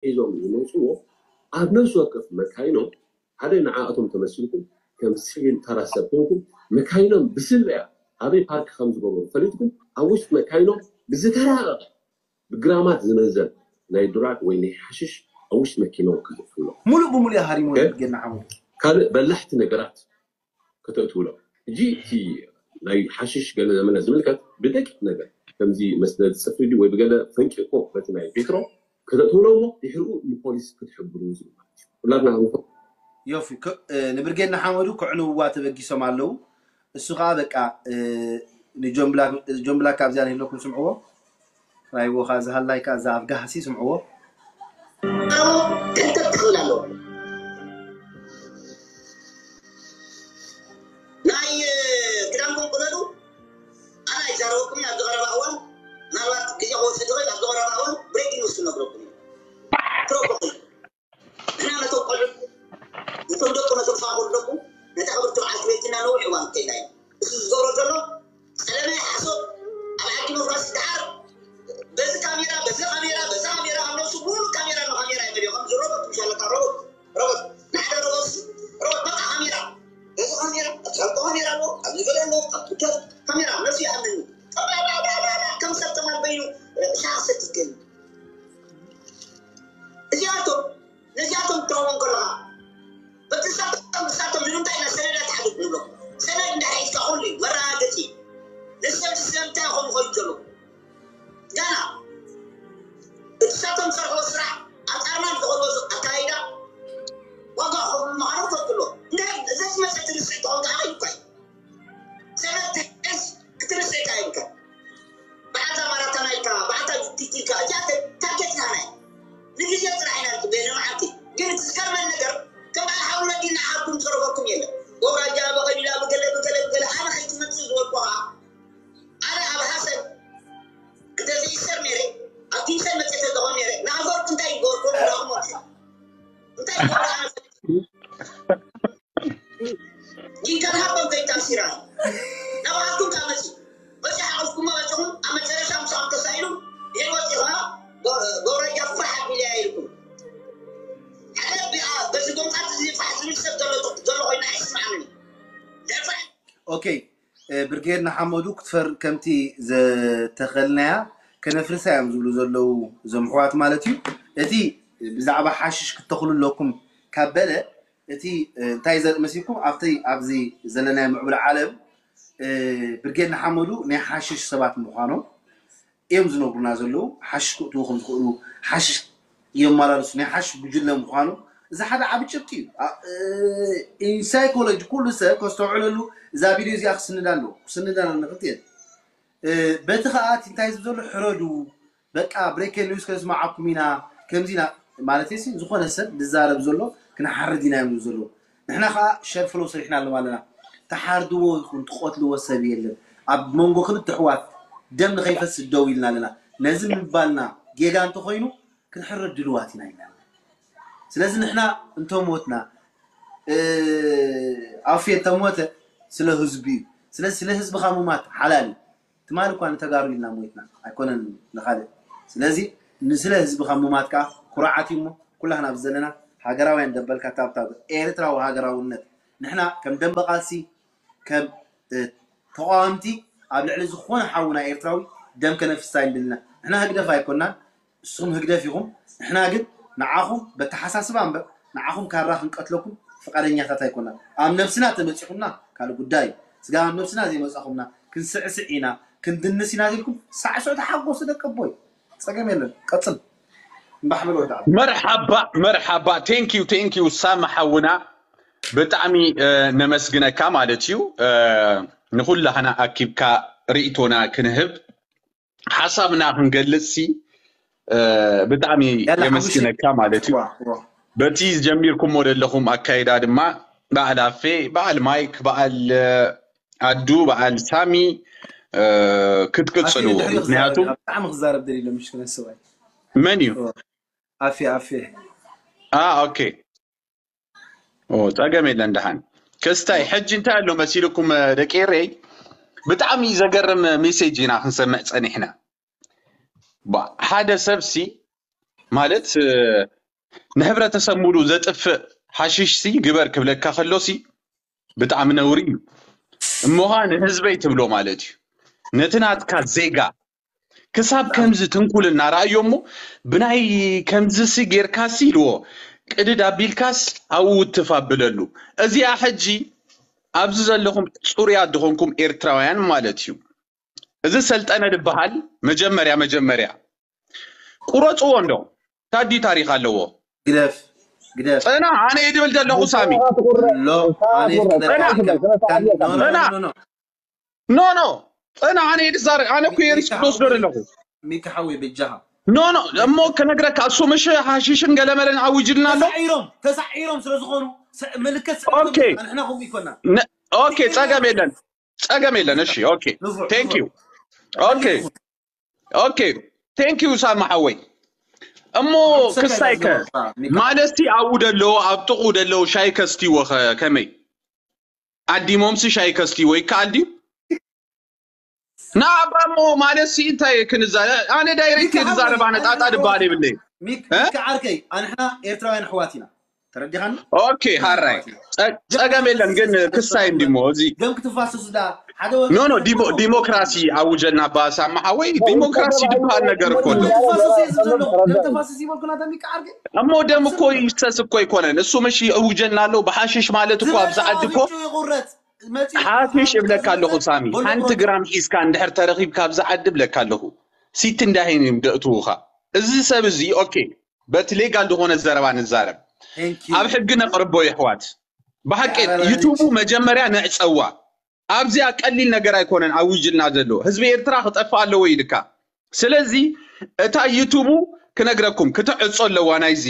ሒዞም ዝመፅዎ ኣብ ነፍሲ ወከፍ መካይኖም ሓደ ንዓኣቶም ተመሲልኩም ከም ሲቪል ተራ ሰብ ኮንኩም መካይኖም ብስለያ ኣበይ ፓርክ ከም ዝገበሩ ፈሊጥኩም ኣብ ውሽጢ መካይኖም ብዝተራቐቐ ብግራማት ዝመዘን ናይ ድራግ ወይ ናይ ሓሽሽ ኣብ ውሽጢ መኪኖም ክዝፍሎ ሙሉእ ብሙሉእ ሃሪሞ ጌና ሓሙ ካልእ በላሕቲ ነገራት ከተእትውሎም ሕጂ እቲ ናይ ሓሽሽ ገለ ዘመነ ዝምልከት ብደቂቕ ነገር ከምዚ መስደድ ፅፍሪ ድዩ ወይ ብገለ ፈንቂቆ በቲ ናይ ቤትሮ ከተእትውሎ እሞ ድሕሪኡ ንፖሊስ ክትሕብሩ ዝብል ማለት እዩ ኩላትና ክንፈ ዮፊ ንብርጌድ ንሓመዱ ክዕንውዋ ተበጊሶም ኣለዉ እሱ ከዓ በቃ ንጆን ብላክ ኣብዚኣ ንህለኩም ስምዕዎ ራይዎ ከዓ ዝሃላይ ከዓ እዛ ኣብ ጋህሲ ስምዕዎ ክልተ ትኽእል ኣለዎ ናይ ክዳንኩም ቅደዱ ኣና ይዛረበኩም ኣብዚ ቀረባ እዋን ምናልባት ግዜ ክወስድ ይኽእል ኣብዚ ቀረባ እዋን ብሬኪንግ ኒውስ ክነግረኩም እዩ ፕሮፖል ንሕና ነቶም ቆልዑ ነቶም ደቁ ነቶም ፋቁር ደቁ ነታ ክብርቲ በዓልቲ ቤትና ነዊሕ እዋን ከይና እዩ እዚ ዝገብሮ ዘሎ ጸለመ ሓሶት ኣብ ዓዲ መፍራስ ይደሓር በዚ ካሜራ በዚ ካሜራ በዚ ካሜራ ኣብ ነብሱ ሙሉ ካሜራ ንካሜራ ይመልዮ ከም ዝሮቦት ምሻለካ ሮቦት ሮቦት ንሓደ ሮቦት ሮቦት በቃ ካሜራ በዚ ካሜራ ኣብ ሻልቆ ካሜራ ኣሎ ኣብ ዝገለ ኣሎ ኣብ ትዊተር ካሜራ ነብሱ ይኣምን እዩ ጠባባባባባ ከም ሰብ ተማል በይኑ ሻቅ ሰትትገኝ እዚኣቶም ነዚኣቶም ትረኽቦም ከለኻ በቲ ንሳቶም ንሳቶም ንምንታይ ኢና ሰነዳት ሓድግ ንብሎ ሰነድ እንዳሒዝካ ኩሉ እዩ መረጋገፂ እዩ ነሰብ ስለምንታይ ይኾኑ ይኸዱ ዘለዉ ጋና እቲ ሳቶም ዝሰርሕዎ ስራሕ ኣጣርና ዝኸዶ ኣካይዳ ዋጋ ክኸፍሉ ምዃኖም ፈልጥሎ እንታይ ዘዝመፀ ትንስዒ ተኾንካ ኣኸይኳይ ሰነድ ትሕዝ ክትንስዒ ካይንካ ብሓታ ማራታና ኢልካ ብሓታ ቲቲልካ እዚኣ ታርጌት ናና ንግዜ ጥራሕ ኢና ንፅበየ ንመዓልቲ ግን እቲ ዝገርመን ነገር ከም በዓል ሓውና ዲና ዓርኩም ዝረፈኩም የለን ወራጃ በቐሊላ ብገለ ብገለ ብገለ ኣነ ከይትመፅእ ዝበልኩ ከዓ ኣነ ኣብ ሃሰን እንተዘይሰር ነይረ ኣብ ጊንሰን መፅእ ተለኹ ነይረ ንኣፈርኩ እንታይ ይገበርኩም ዳኹም ወርሳ እንታይ ይገበርኩ ኣነ ጊንከን ሃቦም ከይታሲራ ናባኻትኩም ካብ መፅእ በፂ ሓቐፍኩሞ በፅኹም ኣብ መጨረሻ ምሳኹም ተሳኢሉ ይወፂ ከዓ ጎረጃ ፋሕ ኣቢልያ ኢልኩም ሓደ ቢኣ በዚ ጎምጣት እዚ ፋሕ ዝብል ሰብ ዘሎ ዘሎ ኮይና ኣይስማዓንን ደፋሕ ኦኬ ብርጌድ ንሓመዱ ክትፈር ከምቲ ዘተኸልናያ ከነፍርሳ እዮም ዝብሉ ዘለዉ እዞም ኣሕዋት ማለት እዩ እቲ ብዛዕባ ሓሽሽ ክተኽሉ ኣለኩም ካብ በለ እቲ እንታይ ዘርኢ መሲልኩም ኣብቲ ኣብዚ ዘለናዮ ምዕቡል ዓለም ብርጌድ ንሓመዱ ናይ ሓሽሽ ሰባት ምዃኖም እዮም ዝነግሩና ዘለዉ ሓሽሽ ክእትዉ ከም ዝኽእሉ ሓሽሽ የመላልሱ ናይ ሓሽሽ ጉጅለ ምዃኑ እዚ ሓደ ዓቢ ጭብጢ እዩ ኢንሳይኮሎጂ ኩሉ ሰብ ከስተውዕለሉ እዛ ቪድዮ እዚኣ ክስንዳ ኣለዎ ክስንዳ ንኽልትኤን በቲ ከዓ እቲ እንታይ ዝብ ዘሎ ሕረዱ በቃ ብሬከን ኒውስ ከነስማዓኩም ኢና ከምዚ ኢና ማለት ሲ ዝኾነ ሰብ ዝዛረብ ዘሎ ክንሓርድ ኢና እዮም ዝብ ዘለዉ ንሕና ከዓ ሸርፍሎ ሰሪሕና ኣለና ኣለና ተሓርድዎ ይኹን ትቆትልዎ ሰብ የለን ኣብ መንጎ ክልተ ኣሕዋት ደም ንኸይፈስስ ደው ኢልና ኣለና ነዚ ምባልና ጌጋ እንተኾይኑ ክንሕረድ ድልዋት ኢና ኢልና ኣለና ስለዚ ንሕና እንተሞትና ኣፌ እንተሞተ ስለ ህዝቢ እዩ ስለዚ ስለ ህዝብኻ ምማት ሓላል እዩ ትማሊ እኳ ንተጋሩ ኢልና ሞይትና ኣይኮነን ንኻልእ ስለዚ ንስለ ህዝብኻ ምማት ከዓ ኩርዓት እዩ እሞ ኩላህና ኣብዚ ዘለና ሃገራውያን ደበልካ ታብታብ ኤርትራዊ ሃገራውነት ንሕና ከም ደንበ ቃልሲ ከም ተቃወምቲ ኣብ ልዕሊ ዝኾነ ሓውና ኤርትራዊ ደም ከነፍስስ ኣይንደልን ኢና ንሕና ህግደፍ ኣይኮናን ንስኹም ህግደፍ ኢኹም ንሕና ግን ንዓኹም በተሓሳስባ እምበር ንዓኹም ካራ ክንቀትለኩም ፍቃደኛታት ኣይኮናን ኣብ ነብስና ተመፂኹምና ካልእ ጉዳይ እዩ ስጋብ ኣብ ነብስና ዘይመፃኹምና ክንስዕስዕ ኢና ክንድንስ ኢና ኢልኩም ሳዕስዑ ተሓጎሱ ደቂ ኣቦይ ፀገም የለን ቀፅል እምባሕ በል ወዲ ዓቢ መርሓባ መርሓባ thank you thank you ሳሚ ሓውና ብጣዕሚ ነመስግነካ ማለት እዩ ንኩላህና ኣኪብካ ርእቶና ክንህብ ሓሳብና ክንገልጽ ሲ ብጣዕሚ የመስግነካ ማለት እዩ። በቲ ጀሚርኩሞ ዘለኹም ኣካይዳ ድማ በዓል ኣፌ፣ በዓል ማይክ፣ በዓል ኣዱ፣ በዓል ሳሚ ክትቅጽሉ ምክንያቱ ብጣዕሚ ክዛረብ ደሊሎ ምሽ ክነስባይ መን እዩ ኣፌ ኣፌ ኦኬ ኦ ጸገም የለን ደሓን ክስታይ ሕጂ እንታይ ኣሎ መሲልኩም ደቂ ኤረይ ብጣዕሚ ዘገርም ሜሴጅ ኢና ክንሰምዕ ጸኒሕና ሓደ ሰብሲ ማለት ንህብረተሰብ ሙሉ ዘጥፍእ ሓሽሽ ሲ ግበር ክብለካ ከሎ ሲ ብጣዕሚ ነውሪ እዩ። እሞኻ ንህዝበይ ትብሎ ማለት እዩ። ነቲ ናትካ ዜጋ ክሳብ ከምዚ ትንኩልና ረኣዮ እሞ ብናይ ከምዚ ሲ ጌርካ ሲ ኢልዎ ቅድድ ኣቢልካስ ኣብኡ ውትፍ ኣብለሉ። እዚኣ ሕጂ ኣብዚ ዘለኹም ፅሩያት ዝኾንኩም ኤርትራውያን ማለት እዩ። እዚ ሰልጠነ ዝበሃል መጀመርያ መጀመርያ ቁረፅዎ እንዶ ታዲ ታሪክ ኣለዎ። ግደፍ ግደፍ ፅና ኣነ እየ ድብል ዘለኹ ሳሚ። ሎ ኣነ ፅና ክነካ ፅና ኖ ኖ ፅና ኣነ እየ ዝዛረብ ኣነ እኮ እየ ሪስክ ዝወስዶ ዘለኹ። ሚካ ሓወይ በጃኻ ኖ ኖ እሞ ክነግረካ እሱ ምሽ ሓሽሽን ገለመለን ኣውጅልና ኣሎ። ተሳዒሮም ተሳዒሮም ስለ ዝኾኑ ሰ- ምልክት ኦኬ። ንሕና ከምኡ ይኮና ነ- ኦኬ ጸገም የለን ጸገም የለን። እሺ ኦኬ ንፉዕ thank you ኦኬ ኦኬ thank you ሳሚ ሓወይ። እሞ ክሳይከ ማለትሲ ኣብኡ ደለዎ ኣብ ጥቕኡ ደለዎ ሻይ ከስትይዎ ኸ ከመይ ኣዲሞምሲ ሻይ ከስትይዎ ይከኣል ድዩ? ንኣባ እሞ ማለትሲ እንታይ ክንዛ ኣነ ዳይሬክት እየ ዝዛረብ ኣነ ጣጣ ድበሃል የብለይ። ሚካ ዓርከይ ኣንሕና ኤርትራውያን ኣሕዋት ኢና ተረዲኻኒ። ኦኬ ሃራይ ጸ- ጸገም የለን ግን ክሳይ እንዲሞ እዚ ደም ክትፋሰሱ ዳ ሓደ ኖ ኖ ዲሞ- ዲሞክራሲ ኣውጀልና ባሳማ ሓወይ ዲሞክራሲ ዝበሃል ነገር እኮ ኣሎ። ተፋሰስ እየ ዝብል ዘለኹ ደም ተፋሰስ ይበልኩ ናተ ሚካ ዓርከይ እሞ ደም እኮ ይፍሰስ እኮ ኣይኮነን እሱ ምሽ ኣውጀልና ኣሎ ብሓሽሽ ማለት እኮ ኣብዚ ዓዲ እኮ ይቁረጽ መጺኡ ሓሽሽ እብለካ ኣለኹ ሳሚ ሓንቲ ግራም ሒዝካ እንድሕር ተረኺብካ ኣብዚ ዓዲ እብለካ ኣለኹ ሲቲ እንዳሂን እዮም ደእትውኻ። እዚ ሰብ እዚ ኦኬ በቲ ሌጋል ዝኾነ ዘረባ ንዛረብ ኣብ ሕጊ ነቕርቦ የሕዋት ብሓቂ ዩቱቡ መጀመርያ ንዕፀዋ ኣብዚኣ ቀሊል ነገር ኣይኮነን ኣውጅልና ዘሎ ህዝቢ ኤርትራ ክጠፍእ ኣለዎ ኢልካ ስለዚ እታ ዩቱቡ ክነግረኩም ክትዕፆ ኣለዋ ናይዚ